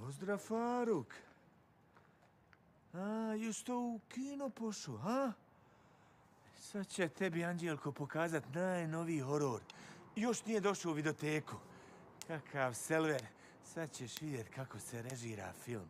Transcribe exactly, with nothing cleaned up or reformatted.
Pozdrav, Faruk. A, justo u kino pošao, ha? Sad će tebi Anđelko pokazat najnoviji horor. Još nije došao u videoteku. Kakav selver. Sad ćeš vidjet kako se režira film.